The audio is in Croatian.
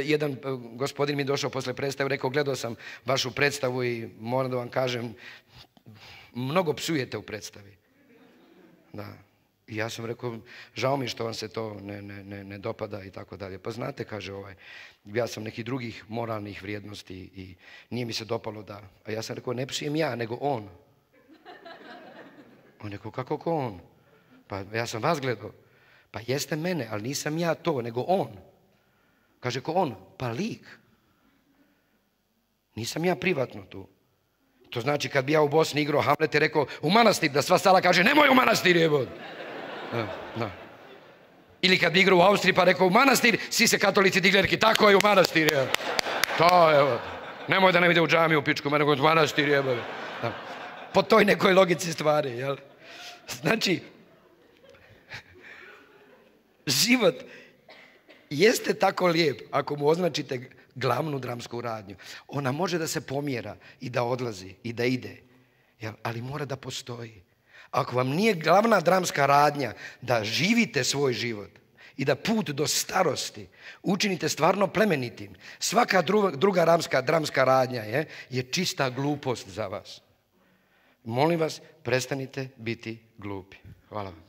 Jedan gospodin mi došao posle predstave, rekao, gledao sam vašu predstavu i moram da vam kažem, mnogo psujete u predstavi. Da. I ja sam rekao, žao mi što vam se to ne dopada i tako dalje. Pa znate, kaže ja sam nekih drugih moralnih vrijednosti i nije mi se dopalo da... A ja sam rekao, ne psujem ja, nego on. On rekao, kako ko on? Pa ja sam vas gledao. Pa jeste mene, ali nisam ja to, nego on. Kaže, ko on? Pa lik. Nisam ja privatno tu. To znači kad bi ja u Bosni igrao Hamlet i rekao u manastir, da sva sala kaže nemoj u manastir, jebod. Da. Ili kad bi igrao u Austriji pa rekao u manastir, svi se katolici diglerki, tako je u manastir, jebod. To je, nemoj da nam ide u džamiju u pičku, nego u manastir, jebod. Po toj nekoj logici stvari, jel? Znači, život jeste tako lijep ako mu označite glavnu dramsku radnju. Ona može da se pomjera i da odlazi i da ide, ali mora da postoji. Ako vam nije glavna dramska radnja da živite svoj život i da put do starosti učinite stvarno plemenitim, svaka druga dramska radnja je čista glupost za vas. Molim vas, prestanite biti glupi. Hvala vam.